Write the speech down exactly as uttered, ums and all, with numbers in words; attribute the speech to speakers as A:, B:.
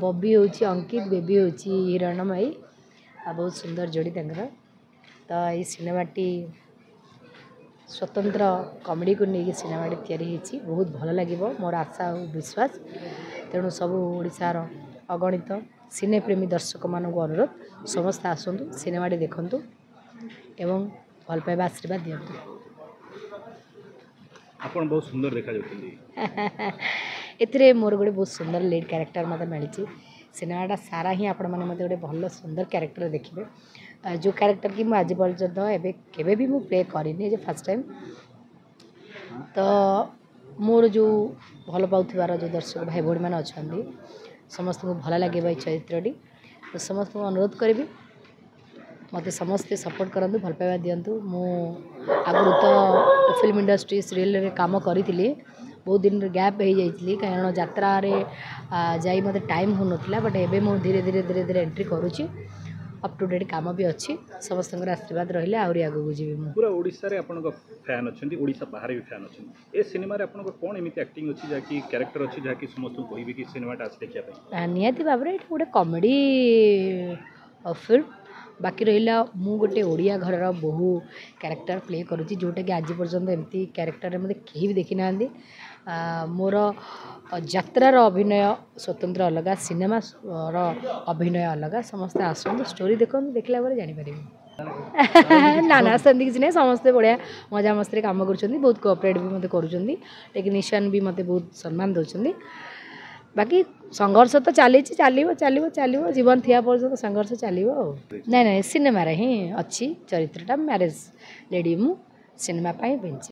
A: ବବି ହେଉଛି ଅଙ୍କିତ, ବେବି ହେଉଛି ହିରଣ୍ମୟୀ, ଆଉ ବହୁତ ସୁନ୍ଦର ଯୋଡ଼ି ତାଙ୍କର। ତ ଏଇ ସିନେମାଟି ସ୍ୱତନ୍ତ୍ର କମେଡ଼ିକୁ ନେଇକି ସିନେମାଟି ତିଆରି ହେଇଛି। ବହୁତ ଭଲ ଲାଗିବ, ମୋର ଆଶା ଆଉ ବିଶ୍ୱାସ। ତେଣୁ ସବୁ ଓଡ଼ିଶାର ଅଗଣିତ ସିନେପ୍ରେମୀ ଦର୍ଶକମାନଙ୍କୁ ଅନୁରୋଧ, ସମସ୍ତେ ଆସନ୍ତୁ, ସିନେମାଟି ଦେଖନ୍ତୁ ଏବଂ ଭଲ ପାଇବା ଆଶୀର୍ବାଦ ଦିଅନ୍ତୁ।
B: ଆପଣ ବହୁତ ସୁନ୍ଦର ଦେଖାଯାଉଛନ୍ତି।
A: ଏଥିରେ ମୋର ଗୋଟେ ବହୁତ ସୁନ୍ଦର ଲିଡ଼୍ କ୍ୟାରେକ୍ଟର ମୋତେ ମିଳିଛି। ସିନେମାଟା ସାରା ହିଁ ଆପଣମାନେ ମୋତେ ଗୋଟେ ଭଲ ସୁନ୍ଦର କ୍ୟାରେକ୍ଟର ଦେଖିବେ, ଯେଉଁ କ୍ୟାରେକ୍ଟର କି ମୁଁ ଆଜି ପର୍ଯ୍ୟନ୍ତ ଏବେ କେବେ ବି ମୁଁ ପ୍ଲେ କରିନି, ଯେ ଫାର୍ଷ୍ଟ ଟାଇମ୍। ତ ମୋର ଯେଉଁ ଭଲ ପାଉଥିବାର ଯେଉଁ ଦର୍ଶକ ଭାଇ ଭଉଣୀମାନେ ଅଛନ୍ତି, ସମସ୍ତଙ୍କୁ ଭଲ ଲାଗିବ ଏଇ ଚରିତ୍ରଟି। ତ ସମସ୍ତଙ୍କୁ ଅନୁରୋଧ କରିବି, ମୋତେ ସମସ୍ତେ ସପୋର୍ଟ କରନ୍ତୁ, ଭଲ ପାଇବା ଦିଅନ୍ତୁ। ମୁଁ ଆଗରୁ ତ ଫିଲ୍ମ ଇଣ୍ଡଷ୍ଟ୍ରି ସିରିଏଲରେ କାମ କରିଥିଲି, ବହୁତ ଦିନର ଗ୍ୟାପ୍ ହେଇଯାଇଥିଲି, କାରଣ ଯାତ୍ରାରେ ଯାଇ ମୋତେ ଟାଇମ୍ ହେଉନଥିଲା। ବଟ୍ ଏବେ ମୁଁ ଧୀରେ ଧୀରେ ଧୀରେ ଧୀରେ ଏଣ୍ଟ୍ରି କରୁଛି, ଅପ୍ ଟୁ ଡେଟ୍ କାମ ବି ଅଛି। ସମସ୍ତଙ୍କର ଆଶୀର୍ବାଦ ରହିଲେ ଆହୁରି ଆଗକୁ ଯିବି ମୁଁ।
B: ପୁରା ଓଡ଼ିଶାରେ ଆପଣଙ୍କ ଫ୍ୟାନ୍ ଅଛନ୍ତି, ଓଡ଼ିଶା ବାହାରେ ବି ଫ୍ୟାନ୍ ଅଛନ୍ତି। ଏ ସିନେମାରେ ଆପଣଙ୍କ କ'ଣ ଏମିତି ଆକ୍ଟିଂ ଅଛି, ଯାହାକି କ୍ୟାରେକ୍ଟର ଅଛି, ଯାହାକି ସମସ୍ତଙ୍କୁ କହିବେ କି ସିନେମାଟା ଆସି ଦେଖିବା ପାଇଁ?
A: ନିହାତି ଭାବରେ ଏଇଟା ଗୋଟେ କମେଡ଼ି ଫିଲ୍ମ। ବାକି ରହିଲା, ମୁଁ ଗୋଟେ ଓଡ଼ିଆ ଘରର ବୋହୂ କ୍ୟାରେକ୍ଟର ପ୍ଲେ କରୁଛି, ଯେଉଁଟାକି ଆଜି ପର୍ଯ୍ୟନ୍ତ ଏମିତି କ୍ୟାରେକ୍ଟରରେ ମୋତେ କେହି ବି ଦେଖିନାହାନ୍ତି। ମୋର ଯାତ୍ରାର ଅଭିନୟ ସ୍ୱତନ୍ତ୍ର ଅଲଗା, ସିନେମାର ଅଭିନୟ ଅଲଗା। ସମସ୍ତେ ଆସନ୍ତୁ, ଷ୍ଟୋରି ଦେଖନ୍ତୁ, ଦେଖିଲା ପରେ ଜାଣିପାରିବେ। ନା ନା, ସେମିତି କିଛି ନାହିଁ। ସମସ୍ତେ ବଢ଼ିଆ ମଜାମସ୍ତିରେ କାମ କରୁଛନ୍ତି, ବହୁତ କୋଅପରେଟ୍ ବି ମୋତେ କରୁଛନ୍ତି, ଟେକ୍ନିସିଆନ୍ ବି ମୋତେ ବହୁତ ସମ୍ମାନ ଦେଉଛନ୍ତି। ବାକି ସଂଘର୍ଷ ତ ଚାଲିଛି, ଚାଲିବ ଚାଲିବ ଚାଲିବ, ଜୀବନ ଥିବା ପର୍ଯ୍ୟନ୍ତ ସଂଘର୍ଷ ଚାଲିବ। ଆଉ ନାଇଁ ନାଇଁ, ସିନେମାରେ ହିଁ ଅଛି ଚରିତ୍ରଟା, ମ୍ୟାରେଜ୍ ଲେଡ଼ି ମୁଁ ସିନେମା ପାଇଁ ପିନ୍ଧିଛି।